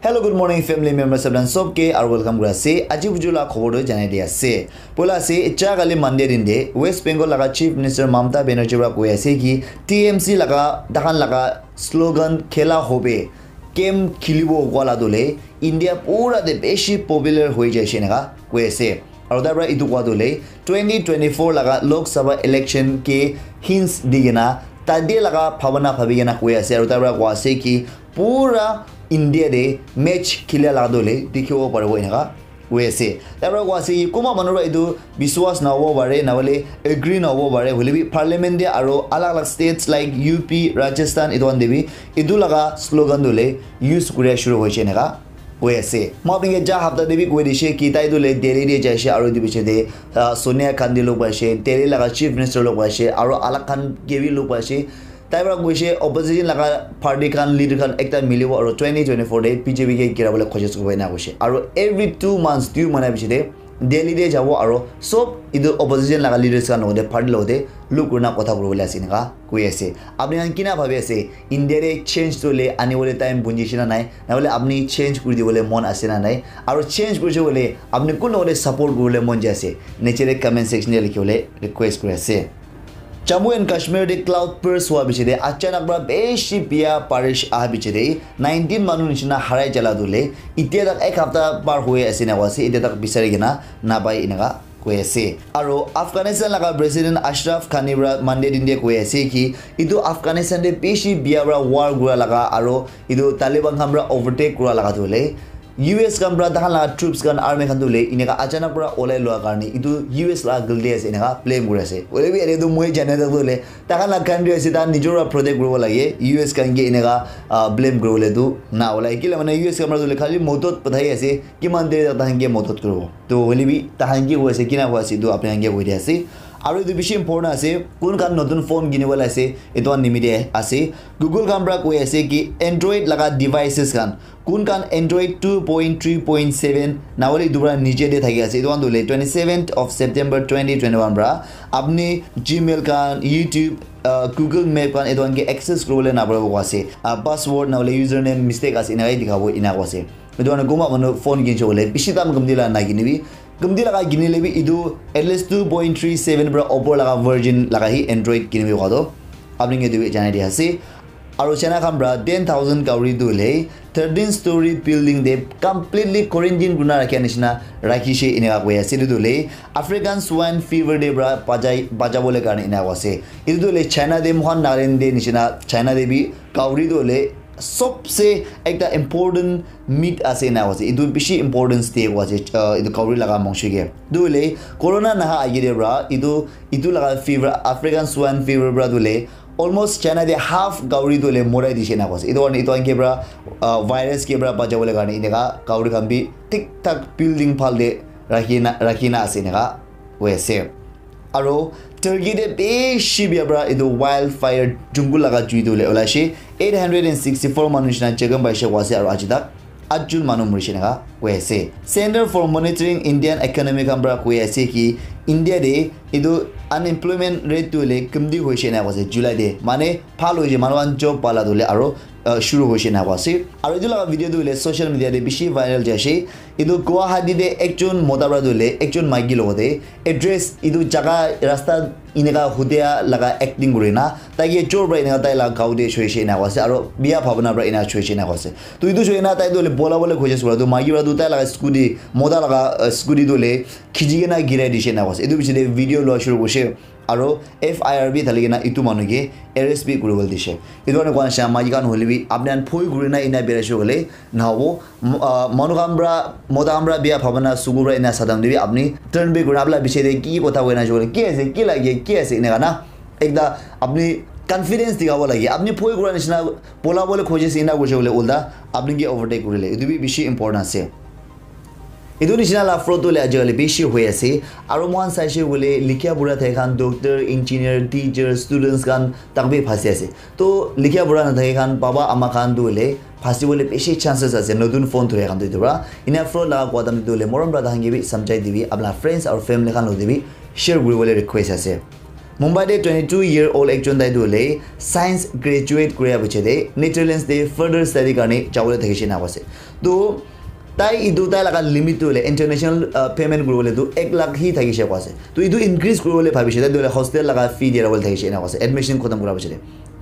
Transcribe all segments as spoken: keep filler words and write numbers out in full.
Hello, good morning, family members, sabdan sob ke, aru welcome kuri ase. Aji buju la khobor tu janai di ase. Poila ase, cha kali Monday din de, West Bengal laga Chief Minister Mamata Banerjee para koi ase ki T M C laga, tahan laga slogan khela hobe, game khilibo koa la tu le, India pura de beshi popular hoi jai she eneka koi ase. Aru tai para etu koa tu le, twenty twenty-four laga Lok Sabha election ke hints di kena, tate laga bhabana bhabi kena koi ase. Aru tai para koa ase ki pura India de match khila laga tu le dikhibo paribo eneka koi ase. Tai para koa ase ki kunba manu para etu biswas nahobo pare, nahole agree nahobo pare, hoile bi parliament de aru alag alag states like U P, Rajasthan, etu khan de bi etu laga slogan tu le use kuria shuru hoise eneka koi ase. Moi apni ke ja hapta de bi koi dishe ki tai tu le Delhi de jaise aru etu piche de, ah, Sonia Gandhi log paise, Delhi laga Chief Minister log paise, aru alag khan ke bi log paise. Tai para koise opposition laga party khan leader khan ekta milibo aru twenty twenty-four de B J P ke gira bole koshish kuribo ena koise. Aru every two months, two mahina piche de Delhi de jabo aru sob etu opposition laga leaders khan logote party logote log kurina kotha kuribole ase eneka koi ase. Apni khan kina bhabi ase, India de change tu le ani bole time bunji shina nai, na bole apni change kuri dibole mon ase na nai? Aru change kurise bole apni kun logote support kuribole mon jai ase? Niche de comment section de likhi bole request kuri ase. Jammu and Kashmir de cloud burst hua piche de achanak para beshi bia barish aha piche de nineteen manu nishina harai jala tu le itia tak ek hapta par hoi ase na koa ase, itia tak bisari kena napai eneka koi ase. Aru Afghanistan laga President Ashraf Ghani para Monday din de koi ase ki etu Afghanistan de beshi bia para war kura laga aru etu Taliban khan para overtake kura laga tu le U S khan para tahan laga troops khan, army khan tu le eneka achanak para olai lua karne etu U S laga galti ase eneka blame kuri ase. Hoile bi ere tu moi jane tak tu le tahan laga country ase, tahan nijor para protect kuribo lage. U S khan ke eneka, ah, blame kuribole tu na olai. Kila mane U S khan para tu le khali modot pathai ase, kiman deri tak tahan ke modot kuribo. To hoile bi tahan ke koi ase, kina koi ase, etu apni khan ke koi di ase. Aru etu bishi important ase, kun khan notun phone kinibo le ase, etu khan nimite ase. Google khan para koi ase ki Android laga devices khan, kun khan Android two point three point seven na hoile etu para niche de thaki ase, etu khan tu le twenty-seventh of September twenty twenty-one para apni Gmail khan, YouTube, uh, Google Map khan etu khan ke access kuribole na paribo koi ase. Uh, password na hoile username mistake ase, eneka dikhabo, eneka koi ase. Etu karne kunba manu phone kinise koile bishi dam kamti laga na kinibi. Kamti laga kinile bi etu at least two point three seven para upor laga version laga hi Android kinibi koa toh apni ke etu bi janai di ase. Aru China khan para ten thousand kauri tu hoile thirteen story building te completely quarantine kurina rakhia nishina rakhishe eneka koi ase. Etu tu hoile African swine fever te para bachai, bachabole karne eneka koi ase. Etu tu hoile China te moikhan Nagaland te nishina China te bi kauri tu hoile sobse ekta important meat ase na ase. Etu bishi importance de ko ase, uh, etu kauri laga mangso ke. Tu hoile corona naha age de para etu, etu laga fever, African swine fever para tu hoile almost China de half kauri tu hoile morai dishe na ase. Etu karne etu ke para, uh, virus ke para bachabole karne eneka kauri khan bi thik thak building phal de rakhi na, rakhi na ase eneka koi ase. Aro Turkey te bishi bia para etu wildfire jungle laga jui tu hoile olaishe. Eight hundred and sixty-four manu nishina jagam paishe koi ase aro aji tak atjun manu murishe eneka koi ase. Center for Monitoring Indian Economy khan para koi ase ki India te etu unemployment rate tu hoile kamti hoishe eneka koi ase July te. Mane bhal hoishe, manu khan job pala tu hoile aro, uh, shuru hoishe eneka koi ase. Aro etu laga video tu hoile social media te bishi viral jai ase. Etu Guwahati te ekjon mota para tu hoile ekjon maiki logote address etu jaga rasta eneka hudia laga acting kuri na tai ke chor para eneka tai laga gao te choishe eneka koi ase aro bia bhabona para eneka choishe eneka koi ase. To etu choi na tai tu hoile bola bole khojise para tu maiki para tu tai laga scooty, mota laga, uh, scooty tu hoile khichi kena girai dishe eneka koi ase. Etu piche te video lua shuru kurishe. Aro F I R bi thali kena etu manu ke arrest bi kuribole dishe. Etu karne koa nishina maiki khan hoile bi apni khan bhoi kuri na ena birai shuru hoile nahobo. Mo-, ah, manu khan para, mota khan para bia bhabona suku para ena sadam de bi apni turn back kuri na apni la piche de ki kotha koi na jole, ki ase, ki lage, ki ase, eneka na. Ekta apni confidence dikhabo lage. Apni bhoi kura nishina bola bole khojise ena kurishe hoile ulta apni ke overtake kurile. Etu bi bishi important ase. Etu nishina la fraud tu hoile ajikali bishi hoi ase. Aro moikhan saishe koile likhia pura thaka khan doctor, engineer, teacher, students khan tak bi phasi ase. To likhia pura nathaka khan baba ama khan tu hoile phasi bole bishi chances ase. Notun phone thura khan tu etu para. Ena fraud laga koa time tu hoile morom para tahan ke bi samjhai dibi. Apna friends aru family khan logote bi share kuri bole request ase. Mumbai te twenty-two year old ekjon tai tu hoile science graduate kuria piche te Netherlands te further study karne jabole thakishe eneka koi ase. To tai etu tai laga limit tu hoile international uh, payment kuribole tu ek lakh hi thakishe koa ase. To etu increase kuribole bhabishe, tai tu hoile hostel laga fee dia bole thakishe ena koa ase, admission khotom kura pichete.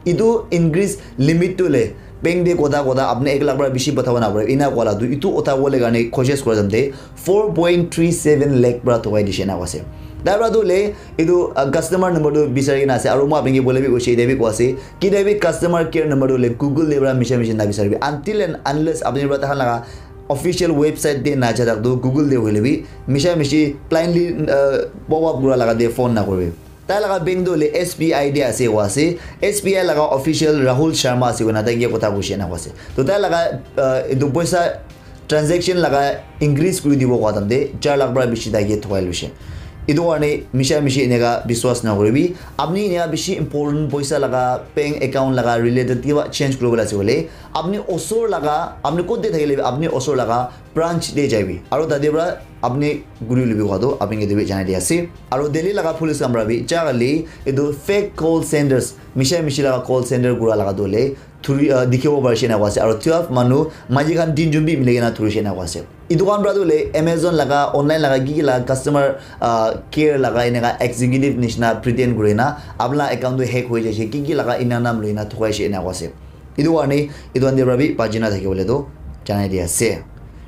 Etu increase limit tu hoile bank te kotha kotha apni ek lakh para bishi pathabo na pare, ena koa la tu etu uthabole karne koshish kura time te four point three seven lakh para thokai dishe ena koa ase. Tai para tu hoile etu uh, customer number tu bisari kena ase, aru moi apni ke bole bi koise, etia bi koa ase, ketia bi customer care number tu hoile Google te para misha mishi na bisaribi, until and unless apni para tahan laga official website te na ja tak tu Google te hoile bi misha mishi blindly uh, pop up kura laga te phone na koribi. Tai laga bank tu hoile S B I te ase koa ase, S B I laga official Rahul Sharma ase koina tai ke kotha koise ena koa ase. To tai laga uh, etu poisa transaction laga increase kuri dibo koa time te char lakh para bishi tai ke thokai loishe. Etu karne misha mishi eneka biswas na koribi. Apni eneka bishi important poisa laga bank account laga related kiba change kuribole ase koile, apni osor laga, apni kot te thakile bi apni osor laga branch te jaibi. Aru tate para apni guri lubi koa tu apni ke tu bi janai di ase. Aru Delhi laga police khan para bi jagale etu fake call centers, misha mishi laga call center kura laga tu hoile thuri uh, dikhibo parishe ena koa ase. Aru twelve manu maiki khan tinjon bi mili kena thurishe ena koa ase. Etu khan para tu hoile Amazon laga, online laga ki ki laga customer uh, care laga eneka executive nishina pretend kurina apna account tu hack hoi jaise, ki ki laga ena naam loina thokaishe ena koa ase. Etu karne etu khan te para bi bachi na thakibole tu janai di ase.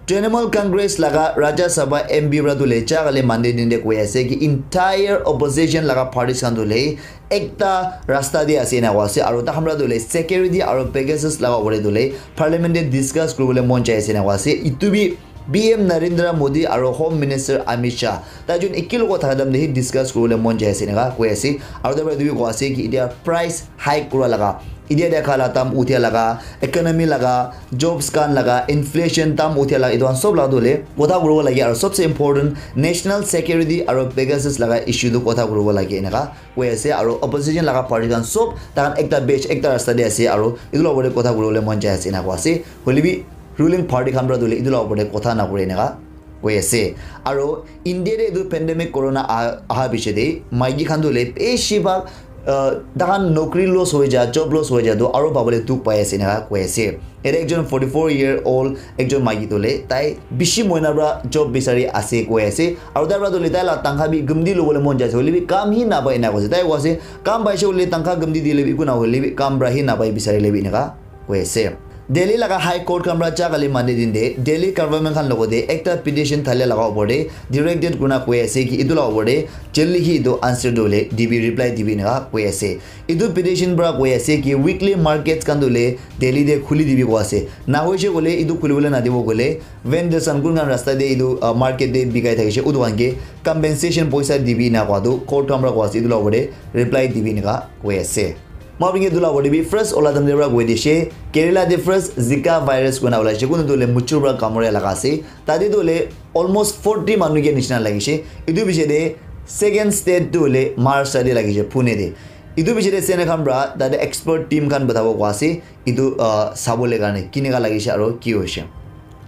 Trinamool Congress laga Rajya Sabha M P para tu hoile jagale Monday din te koi ase ki entire opposition laga parties khan tu hoile ekta rasta te ase ena koa ase, aru tahan para tu hoile security aru Pegasus laga opor te tu hoile parliament te discuss kuribole mon jai ase ena koa ase. Etu bi P M Narendra Modi aru Home Minister Amit Shah tai jun eki logot thaka time te hi discuss kuribole mon jai ase eneka koi ase. Aru tai para etu bi koa ase ki etia price hike kura laga, etia dia khala dam uthia laga, economy laga, jobs khan laga, inflation dam uthia laga, etu khan sob laga tu hoile kotha kuribo lage, aru sobse important national security aru Pegasus laga issue tu kotha kuribo lage eneka koi ase. Aru opposition laga party khan sob tahan ekta batch ekta rasta te ase, aru etu laga opor te kotha kuribole mon jai ase ena koa ase. Hoile bi ruling party khan para tu hoile etu laga opor te kotha na kure eneka koi ase. Aru India te etu pandemic corona aha, aha piche te maiki khan tu hoile beshi bhag uh, tahan nokri loss hoi ja, job loss hoi ja tu aru pabole dukh pai ase eneka koi ase. Ete ekjon forty four year old ekjon maiki tu hoile tai bishi mohina para job bisari ase koi ase. Aru tai para tu hoile tai laga tankha bi gumdi lobole mon jai ase, hoile bi kam hi napai ena koi ase. Tai koi ase kam paise hoile tankha gumdi dile bi eku na hoile bi kam para hi napai, bisarile bi eneka koi ase. Delhi laga High Court khan para jagale Monday din te Delhi government khan logot te ekta petition thalia laga opor te directed kurina koi ase ki etu laga opor te jaldi hi etu answer tu hoile dibi, reply dibi eneka koi ase. Etu petition para koi ase ki weekly markets khan tu hoile Delhi te khuli dibi koi ase. Na hoise koile etu khulibole na dibo koile vendors khan kun khan rasta te etu uh, market te bikai thakishe utu khan ke compensation poisa dibi ena koa tu court khan para koi ase, etu laga opor te reply dibi eneka koi ase. Moi apni ke etu laga opor te bi first ola time te para koi dishe, Kerala te first Zika virus koina ulaishe, kunu tu hoile muchur para kamura laga ase. Tate tu hoile almost forty manu ke nishina lagishe. Etu piche te second state tu hoile Maharashtra te lagishe, Pune te. Etu piche te Sena khan para tate expert team khan pathabo koi ase, etu uh, sabole karne kineka lagishe aru ki hoishe.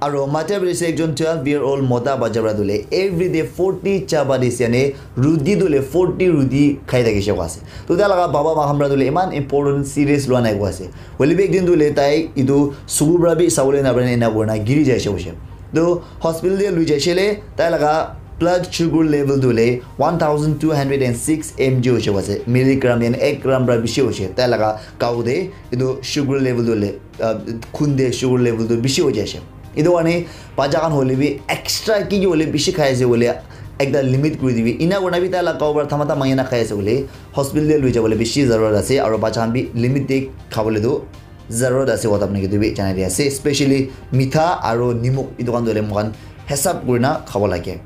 Aru Madhya Pradesh te ekjon twelve year old mota bacha para tu hoile everyday forty chapati ase, yane ruti tu hoile forty ruti khai thakishe koi ase. To tai laga baba ma khan para tu hoile eman important serious lua nai koi ase. Hoile bi ek din tu hoile tai etu suku para bi sabole na pare ena kurina giri jaise hoishe. To hospital te lui jaise le tai laga blood sugar level tu hoile one thousand two hundred and six M G hoise koise, milligram, yani ek gram para bishi hoise. Tai laga gao te etu sugar level tu hoile, ah, khun te sugar level tu bishi hoi jaise. Etu karne bacha khan hoile bi extra ki ki hoile bishi khai ase hoile ekta limit kuri dibi. Ena kurina bi tai laga gao para thamata mangi na khai ase hoile hospital te lui jabole bishi zarurat ase, aru bacha khan bi limit te khabole tu zarurat ase, kotha apni ke etu bi janai di ase, especially mitha aru nimok etu khan tu hoile moikhan hisab kurina khabo lage.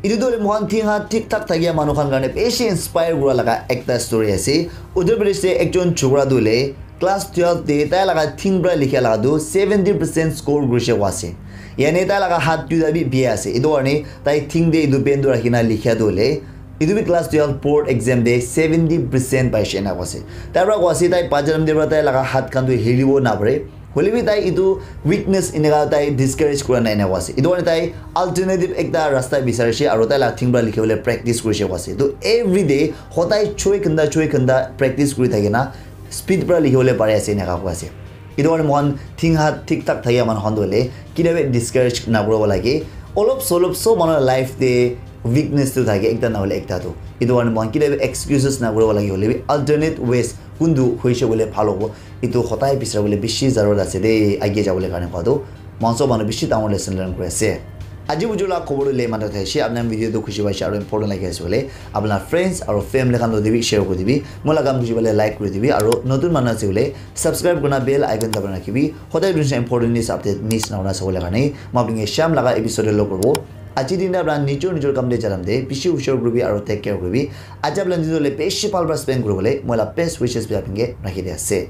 Etu tu hoile moikhan thing khan thik thak thakia manu khan karne bishi inspire kura laga ekta story ase. Uttar Pradesh te ekjon chokra tu hoile class twelve te tai laga thing para likha laga tu seventy percent score kurise koi ase. Yani tai laga hath duita bi bia ase. Etu karne tai thing te etu pen tu rakhina likha tu hoile etu bi class twelve board exam te seventy percent paise ena koi ase. Tai para koi ase tai bacha time te para tai laga hath khan tu hilibo na pare. Hoile bi tai etu weakness eneka tai discourage kura nai ena koi ase. Etu karne tai alternative ekta rasta bisarise aru tai laga thing para likhi bole practice kurise koi ase. To everyday hodai choi ghanta, choi ghanta practice kuri thaki na speed para likhi bole pari ase eneka koi ase. Etu karne moikhan thing hat thik thak thakia manu khan tu hoile kila bi discourage nakuribo lage. Olop solop sob manu life te weakness tu thake, ekta na hoile ekta tu. Etu karne moikhan kila bi excuses nakuribo lage, hoile bi alternate ways kuntu hoise koile bhal hobo. Etu hotai bisaribole bishi zarurat ase de, age jabole karne koa tu. Moikhan sob manu bishi dangor lesson learn kuri ase. Aji buju la khobor tu le mata thaise, apna video tu khushi paise aru important lagi ase koile, apna friends aru family khan lo de bi share kuri dibi. Moi la kam khushi pale like kuri dibi aru notun manu ase koile subscribe kurna bell icon dabai rakhibi. Hodai dunsa important news update miss na hona sabole karne. Moi apni ke sham laga episode lo kurbo. Aji din da apna nijor nijor kam de jalam de. Bishi hushar kuribi aru take care kuribi. Aji apna nijor le bishi bhal para spend kuribole moi la best wishes bi apni ke rakhi de ase.